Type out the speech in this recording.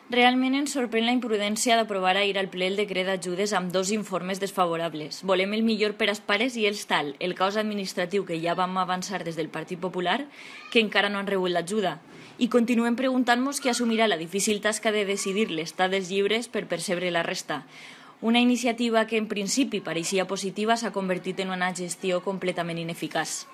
Realment ens sorprèn la imprudència d'aprovar ahir al ple el decret d'ajudes amb 2 informes desfavorables. Volem el millor per als pares i els tal, el caos administratiu que ja vam avançar des del Partit Popular, que encara no han rebut l'ajuda. I continuem preguntant-nos qui assumirà la difícil tasca de decidir l'estat dels llibres per percebre la resta. Una iniciativa que en principi pareixia positiva s'ha convertit en una gestió completament ineficaç.